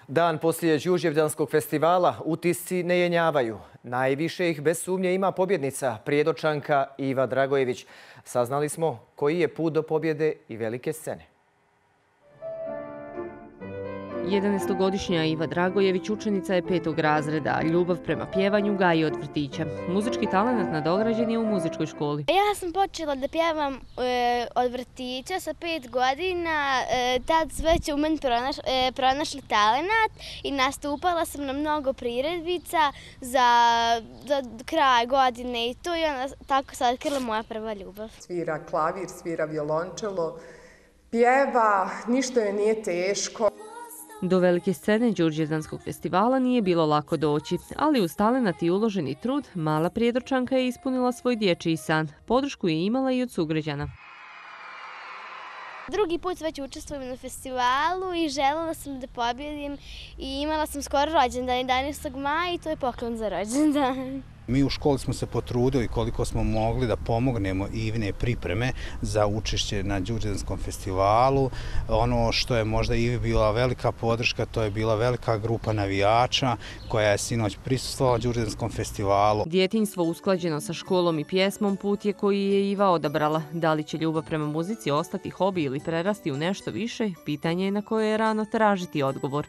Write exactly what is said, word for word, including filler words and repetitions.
Dan poslije Đurđevdanskog festivala utisci ne jenjavaju. Najviše ih bez sumnje ima pobjednica, Prijedočanka Iva Dragojević. Saznali smo koji je put do pobjede i velike scene. jedanaestogodišnja Iva Dragojević učenica je petog razreda. Ljubav prema pjevanju gaji od vrtića. Muzički talent nadograđen je u muzičkoj školi. Ja sam počela da pjevam e, od vrtića sa pet godina. E, tad već u meni pronaš, e, pronašli talent i nastupala sam na mnogo priredbica za, za kraj godine i to i onda tako se otkrila moja prva ljubav. Svira klavir, svira violončelo, pjeva, ništa joj nije teško. Do velike scene Đurđevdanskog festivala nije bilo lako doći, ali uz talenat i uloženi trud, mala Prijedočanka je ispunila svoj dječji san. Podršku je imala i od sugrađana. Drugi put već učestvujem na festivalu i željela sam da pobjedim i imala sam skoro rođendan jedanaestog maja i to je poklon za rođendan. Mi u školi smo se potrudili koliko smo mogli da pomognemo Ivine pripreme za učešće na Đurđevdanskom festivalu. Ono što je možda Ivi bila velika podrška, to je bila velika grupa navijača koja je sinoć prisustvovala Đurđevdanskom festivalu. Djetinjstvo usklađeno sa školom i pjesmom put je koji je Iva odabrala. Da li će ljubav prema muzici ostati hobi ili prerasti u nešto više, pitanje je na koje je rano tražiti odgovor.